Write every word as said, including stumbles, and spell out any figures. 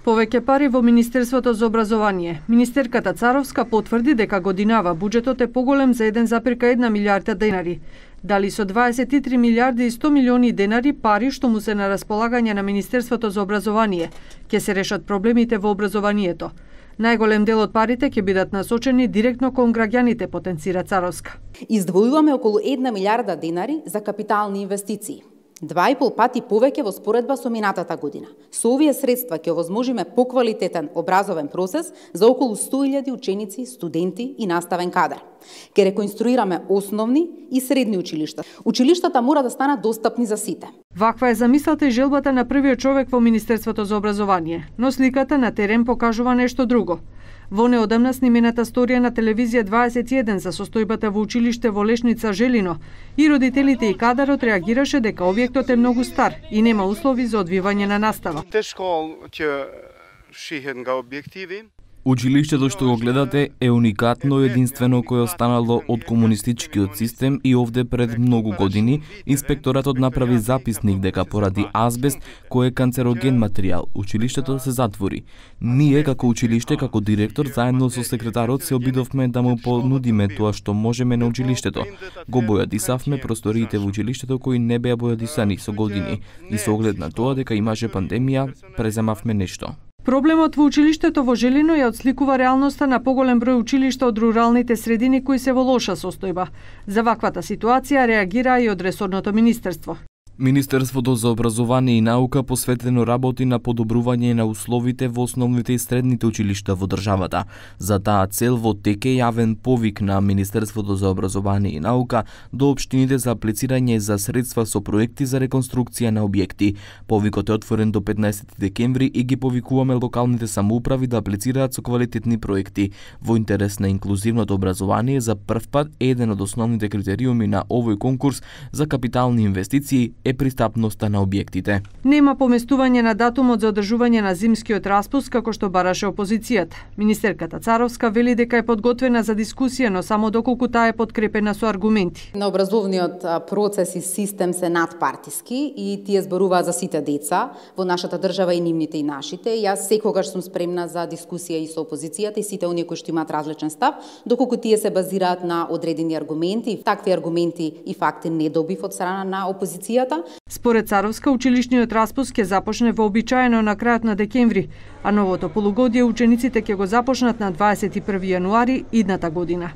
Повеќе пари во Министерството за образование. Министерката Царовска потврди дека годинава буџетот е поголем за еден зарез една милијарда денари. Дали со дваесет и три милијарди и сто милиони денари пари што му се на располагање на Министерството за образование, ќе се решат проблемите во образованието. Најголем дел од парите ќе бидат насочени директно кон граѓаните, потенцира Царовска. Издвојуваме околу една милијарда денари за капитални инвестиции. Два и пол пати повеќе во споредба со минатата година. Со овие средства ќе овозможиме поквалитетен образовен процес за околу сто илјади ученици, студенти и наставен кадар. Ке реконструираме основни и средни училишта. Училиштата мора да станат достапни за сите. Ваква е замислата и желбата на првиот човек во Министерството за образование, но сликата на терен покажува нешто друго. Во неодамна снимената сторија на телевизија дваесет и еден за состојбата во училиште во Лешница Желино и родителите и кадарот реагираше дека објектот е многу стар и нема услови за одвивање на настава. Тешко ќе шиhen га објективи. Училиштето што го гледате е уникатно и единствено кое останало од комунистичкиот систем и овде пред многу години инспекторатот направи записник дека поради азбест кој е канцероген материјал, училиштето се затвори. Ние како училиште, како директор, заедно со секретарот се обидовме да му понудиме тоа што можеме на училиштето. Го бојадисавме просториите во училиштето кои не беа бојадисани со години и со оглед на тоа дека имаше пандемија, преземавме нешто. Проблемот во училиштето во Желино ја отсликува реалноста на поголем број училишта од руралните средини кои се во лоша состојба. За ваквата ситуација реагира и од ресорното министерство. Министерството за образование и наука посветено работи на подобрување на условите во основните и средните училишта во државата. За таа цел во тек е јавен повик на Министерството за образование и наука до општините за аплицирање за средства со проекти за реконструкција на објекти. Повикот е отворен до петнаесети декември и ги повикуваме локалните самоуправи да аплицираат со квалитетни проекти. Во интерес на инклузивното образование, за прв пат еден од основните критериуми на овој конкурс за капитални инвестиции е пристапноста на објектите. Нема поместување на датумот за одржување на зимскиот распуст како што бараше опозицијата. Министерката Царовска вели дека е подготвена за дискусија, но само доколку таа е подкрепена со аргументи. На образовниот процес и систем се надпартиски и тие зборуваат за сите деца во нашата држава, и нивните и нашите. Јас секогаш сум спремна за дискусија и со опозицијата и сите оние кои што имаат различен став, доколку тие се базираат на одредени аргументи. Такви аргументи и факти не добив од страна на опозицијата. Според Царовска, училишниот распуст ќе започне вообичаено на крајот на декември, а новото полугодие учениците ќе го започнат на дваесет и први јануари идната година.